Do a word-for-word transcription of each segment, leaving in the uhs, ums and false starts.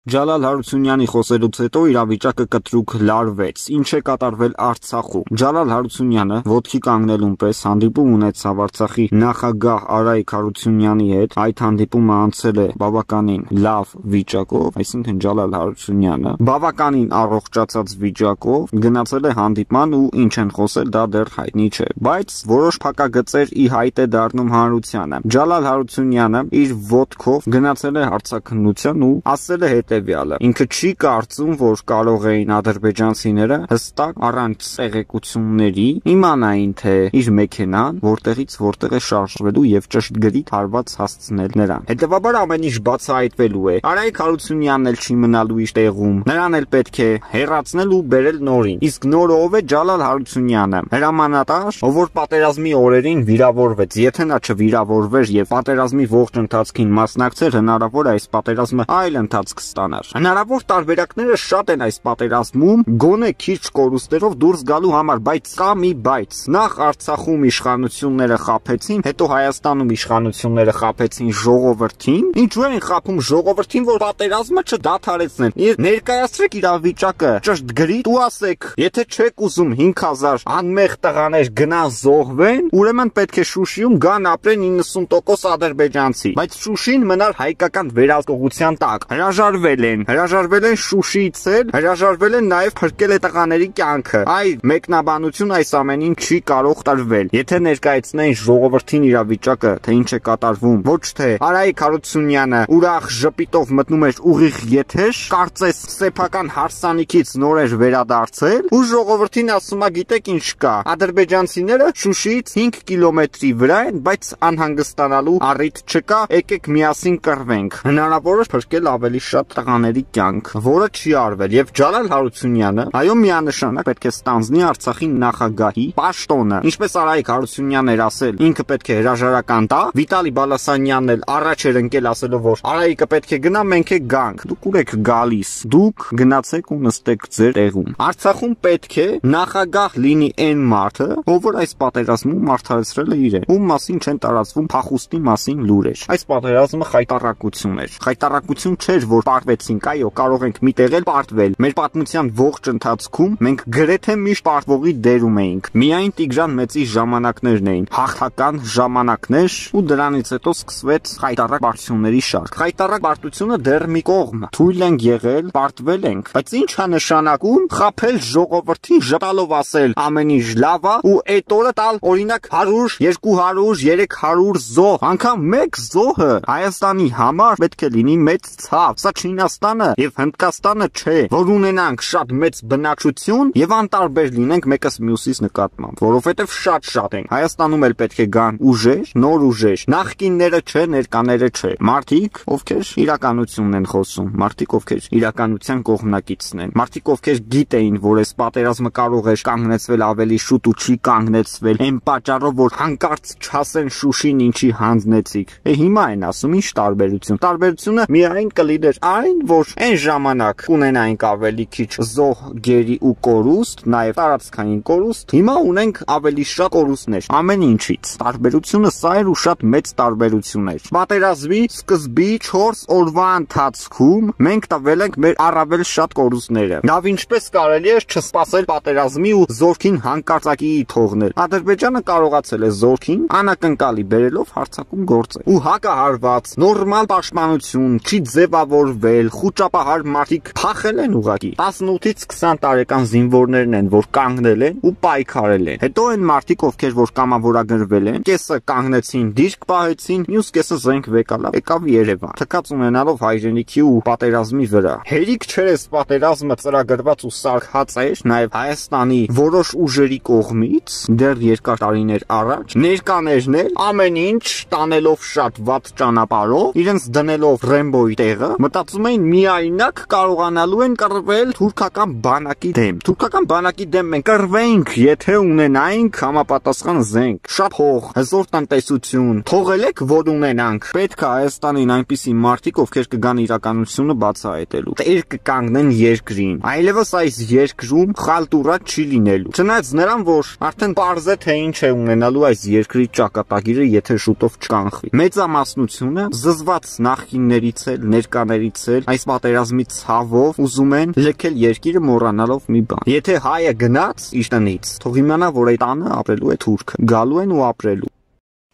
Ջալալ Հարությունյանի խոսելուց հետո իրավիճակը կտրուկ լարվեց։ Ինչ է կատարվել Արցախում։ Ջալալ Հարությունյանը ոտքի կանգնելուն պես հանդիպում ունեցավ Արցախի նախագահ Արայիկ Հարությունյանի հետ։ Այդ հանդիպումը անցել է բավականին լավ վիճակով, այսինքն Ջալալ Հարությունյանը բավականին առողջացած վիճակով գնացել է հանդիպման ու ինչ են խոսել դա դեռ հայտնի չէ։ Բայց որոշ փակագծեր ի հայտ է դառնում հանրությանը։ Ջալալ Հարությունյանը իր ոտքով գնացել է հարցաքննության ու ասել է հետևյալը. ինքը չի կարծում, որ կարող էին ադրբեջանցիները հստակ առանց ցեղեկությունների իմանային, թե իր մեքենան որտեղից որտեղ է շարժվելու եւ ճշգրիտ հարված հասցնել նրան։ Հետևաբար ամեն ինչ բացահայտվելու է։ Արայիկ Հարությունյանն էլ չի մնալու իր տեղում։ Նրան էլ պետք է հեռացնել ու բերել նորին։ Իսկ նորը ով է? Ջալալ Հարությունյանը, հրամանատար, ով որ պատերազմի օրերին վիրավորվեց։ Եթե նա չվիրավորվեր եւ պատերազմի ողջ ընթացքին մասնակցեր, հնարավոր է այս պատերազմը այլ ընթացք ստանար։ Հնարավոր տարբերակները շատ են այս պատերազմում, գոնե քիչ կորուստերով դուրս գալու համար, բայց կա մի բայց։ Նախ Արցախում իշխանությունները խաբեցին, հետո Հայաստանում իշխանությունները խաբեցին ժողովրդին։ Ինչու են խաբում ժողովրդին, որ պատերազմը չդադարեցնեն։ Ներկայացրեք իրավիճակը ճշտգրիտ ու ասեք, եթե չեք ուզում հինգ հազար անմեղ տղաներ գնան զոհվեն, ուրեմն պետք է Շուշիում գան ապրեն իննսուն տոկոս ադրբեջանցի։ Բայց Շուշին մնար հայկական վերահսկողության տակ։ Հրաժարվել են, հրաժարվել են Շուշիից էլ, հրաժարվել են նաև փրկել է տղաների կյանքը։ Այ մեկնաբանություն այս ամենին չի կարող տրվել։ Եթե ներկայացնեին ժողովրդին իրավիճակը, թե ինչ է կատարվում, ոչ թե Արայիկ Հարությունյանը ուրախ ժպիտով մտնում էր ուղիղ եթեր, կարծես սեփական հարսանիքից նոր էր վերադարձել, ու ժողովրդին ասում է, գիտեք ինչ կա, ադրբեջանցիները Շուշիից հինգ կիլոմետրի վրա են, բայց անհանգստանալու առիթ չկա, եկեք միասին կռվենք։ Հնարավոր է փրկել ավելի շատ տղաների կյանք, որը չի արվել, եւ Ջալալ Հարությունյանը, այո, միանշանակ պետք է ստանձնի Արցախի նախագահի պաշտոնը, ինչպես Արայիկ Հարությունյանն էր ասել, ինքը պետք է հրաժարական տա, Վիտալի Բալասանյանն էլ առաջ էր ընկել ասելով, որ Արայիկը պետք է գնա, մենք է գանք, դուք ուր եք գալիս, դուք գնացեք ու նստեք ձեր տեղում։ Արցախում պետք է նախագահ լինի այն մարդը, ով որ այս պատերազմում արդարացրել է իրեն, ում մասին չեն տարածվում փախուստի մասին լուրեր։ Այս պատերազմը խայտառակություն էր, խայտառակություն չէր, որ պարտվեցինք, այո, կարող ենք մի տեղ էլ պարտվել։ Մեր պատմության ողջ ընթացքում մենք գրեթե միշտ պարտվողի դերում էինք։ Միայն Տիգրան Մեծի ժամանակներն էին հաղթական ժամանակներ, ու դրանից հետո սկսվեց խայտառակ պարտությունների շարք։ Խայտառակ պարտությունը դեռ մի կողմ, թույլ ենք եղել, պարտվել ենք, բայց ի՞նչ է նշանակում խաբել ժողովրդին, ժպտալով ասել ամեն ինչ լավ է ու այդ օրը տալ օրինակ հարյուր, երկու հարյուր, երեք հարյուր զոհ, անգամ մեկ զոհը Հայաստանի համար պետք է լինի մեծ ցավ։ Սա Չինաստանը եւ Հնդկաստանը չէ, որ ունենանք շատ մեծ բնակչություն եւ անտարբեր լինենք մեկս մյուսից նկատմամբ, որովհետեւ շատ-շատ ենք։ Հայաստանում էլ պետք է գան ուժեր, նոր ուժեր, նախկինները չէ, ներկաները չէ։ Մարդիկ, ովքեր իրականությունն են խոսում, մարդիկ, ովքեր իրականության կողմնակիցն են, մարդիկ, ովքեր գիտեին, որ այս պատերազմը կարող է կանգնեցվել ավելի շուտ ու չի կանգնեցվել, այն պատճառով, որ հանկարծ չասեն Շուշին ինչի հանձնեցիք։ Է հիմա են ասում, ինչ տարբերություն։ Տարբերությունը միայն կլիներ այն, որ այն ժամանակ ունենայինք ավելի քիչ զոհ, գերի ու կորուստ, նաև տարածքային կորուստ, հիմա ունենք ավելի շատ կորուստներ ամեն ինչից։ Տարբերությունը սա էր ու շատ մեծ տարբերություն էր։ Պատերազմի սկզբի չորս օրվա ընթացքում մենք տվել ենք մեր առավել շատ կորուստները։ Լավ, ինչպես կարելի է չսպասել պատերազմի ու զորքին հանկարծակի թողնել։ Ադրբեջանը կարողացել է զորքին անակնկալի բերելով հարձակում գործել։ Ու հակահարված նորմալ պաշտպանություն չի ձևավորվել, խուճապահար մարդիկ փախել են ուղղակի։ տասնութից քսան տարեկան զինվորներն են, որ կանգնել են ու պայքարել են։ Հետո այն մարդիկ, ովքեր որ կամավորագրվել են, կեսը կանգնեցին, դիրք պահեցին, մյուս կեսը զենք վեկալավ, եկավ Երևան, թքած ունենալով հայրենիքի ու պատերազմի վրա։ Հերիք չէր այս պատերազմը ծրագրված ու սարքած էր նաև Հայաստանի որոշ ուժերի կողմից դեռ երկար տարիներ առաջ։ Ներկաներն էլ ամեն ինչ տանելով շատ վատ ճանապարհով, իրենց դնելով Ռեմբոյի տեղը, մտածում էին միայնակ կարողանալու են կռվել թուրքական բանակի դեմ։ Թուրքական բանակի դեմ մենք կռվեինք, եթե ունենայինք համապատասխան զենք, շատ փող, հզոր տնտեսություն, թողել եք, որ ունենանք։ Պետք է Հայաստանին այնպիսի մարդիկ, ովքեր կգան իրականությունը բացահայտելու, տեր կկանգնեն երկրին։ Այլևս այս երկրում խալտուրա չի լինելու։ Չնայած նրան, որ արդեն պարզ է, թե ինչ է ունենալու այս երկրի ճակատագիրը, եթե շուտով չկանխվի։ Մեծամասնությունը զզված նախկիններից էլ, ներկաներից մահացել այս պատերազմի ցավով, ուզում են լքել երկիրը մոռանալով մի բան։ Եթե հայը գնաց իր տնից, թող իմանա, որ այդ տանը ապրելու է թուրքը, գալու են ու ապրելու։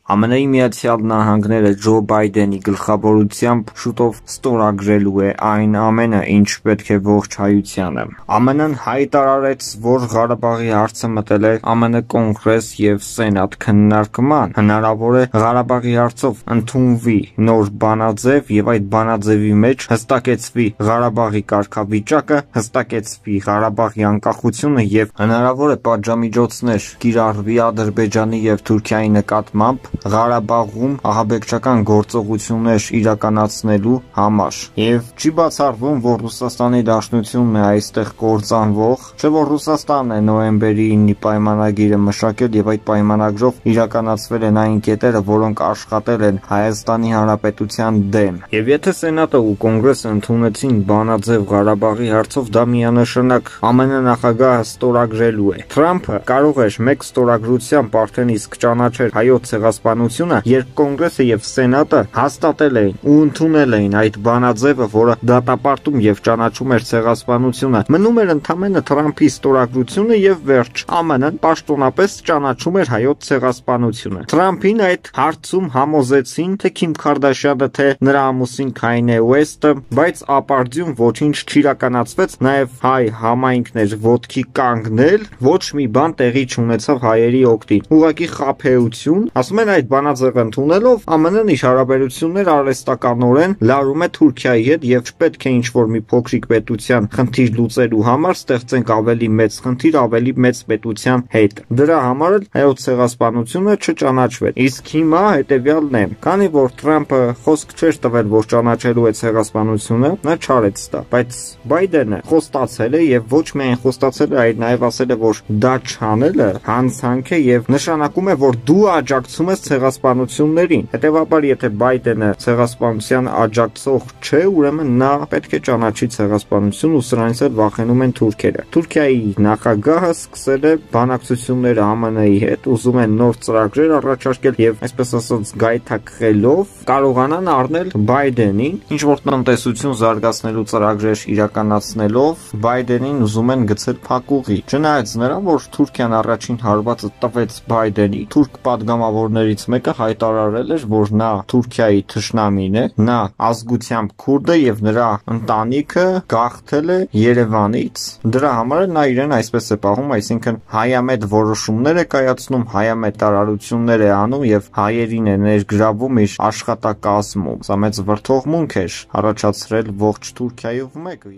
ԱՄՆ-ի Միացյալ Նահանգները Ջո Բայդենի գլխավորությամբ շուտով ստորագրելու է այն ամենը, ինչ պետք է ողջ հայությանը։ ԱՄՆ-ն հայտարարեց, որ Ղարաբաղի հարցը մտել է ԱՄՆ Կոնգրես եւ Սենատ քննարկման։ Հնարավոր է Ղարաբաղի հարցով ընդունվի նոր բանաձև եւ այդ բանաձևի մեջ հստակեցվի Ղարաբաղի կարգավիճակը, հստակեցվի Ղարաբաղի անկախությունը եւ հնարավոր է պատժամիջոցներ կիրառվի Ադրբեջանի եւ Թուրքիայի նկատմամբ Ղարաբաղում ահաբեկչական գործողություններ իրականացնելու համար։ Եվ չի բացառվում, որ Ռուսաստանի Դաշնությունն է այստեղ կործանվող, չէ՞ որ Ռուսաստանն է նոյեմբերի ինը պայմանագիրը մշակել եւ այդ պայմանագրով իրականացվել են այն կետերը, որոնք աշխատել են Հայաստանի Հանրապետության դեմ։ Եվ եթե Սենատը ու Կոնգրեսը ընդունեցին բանաձև Ղարաբաղի հարցով, դա միանշանակ ԱՄՆ նախագահը ստորագրելու է։ Թրամփը կարող էր մեկ ստորագրությամբ արդեն իսկ ճանաչել հայոց ցեղասպանությունը, երբ Կոնգրեսը եւ Սենատը հաստատել էին ու ընդունել էին այդ բանաձևը, որը դատապարտում եւ ճանաչում էր ցեղասպանությունը, մնում էր ընդամենը Թրամփի ստորագրությունը եւ վերջ։ ԱՄՆ-ն պաշտոնապես ճանաչում էր հայոց ցեղասպանությունը։ Թրամփին այդ հարցում համոզեցին թե Քիմ Քարդաշյանը, թե նրա ամուսին Քայնե Ուեսթը, բայց ապարդյուն ոչինչ չիրականացվեց, նաեւ հայ համայնքներ ոտքի կանգնել, ոչ մի բան տեղի չունեցավ հայերի օգտին։ Ուղղակի խաբեություն, ասում են այդ բանաձևը ընդունելով ԱՄՆ-ն իր հարաբերություններ արհեստականորեն լարում է Թուրքիայի հետ եւ չպետք է ինչ-որ մի փոքրիկ պետության խնդիր լուծելու համար ստեղծենք ավելի մեծ խնդիր ավելի մեծ պետության հետ։ Դրա համար էլ հայոց ցեղասպանությունը չճանաչվեց։ Իսկ հիմա հետեւյալն է, քանի որ Թրամփը խոսք չէր տվել, որ ճանաչելու է ցեղասպանությունը, նա չարեց դա, բայց Բայդենը խոստացել է եւ ոչ միայն խոստացել է, այլ նաեւ ասել է, որ դա չանելը հանցանք է եւ նշանակում է, որ դու աջակցում ես ցեղասպանություններին։ Հետևաբար, եթե Բայդենը ցեղասպանության աջակցող չէ, ուրեմն նա պետք է ճանաչի ցեղասպանություն ու սրանից էլ վախենում են թուրքերը։ Թուրքիայի նախագահը սկսել է բանակցությունները ԱՄՆ-ի հետ, ուզում են նոր ծրագրեր առաջարկել եւ այսպես ասած գայթակղելով կարողանան առնել Բայդենին, ինչ որ տնտեսություն զարգացնելու ծրագրեր իրականացնելով Բայդենին ուզում են գցել փակուղի։ Չնայած նրան, որ Թուրքիան առաջին հարվածը տվեց Բայդենի, թուրք պատգամավորներից մեկը հայտարարել էր, որ նա Թուրքիայի թշնամին է, նա ազգությամբ քուրդ է եւ նրա ընտանիքը գաղթել է Երևանից։ Դրա համար նա իրեն այսպես է պահում, այսինքն հայամետ որոշումներ է կայացնում, հայամետ տարարություններ է անում եւ հայերին է ներգրավում իր աշխատակազմում։ Սա մեծ վրդովմունք էր առաջացրել ողջ Թուրքիայով մեկ։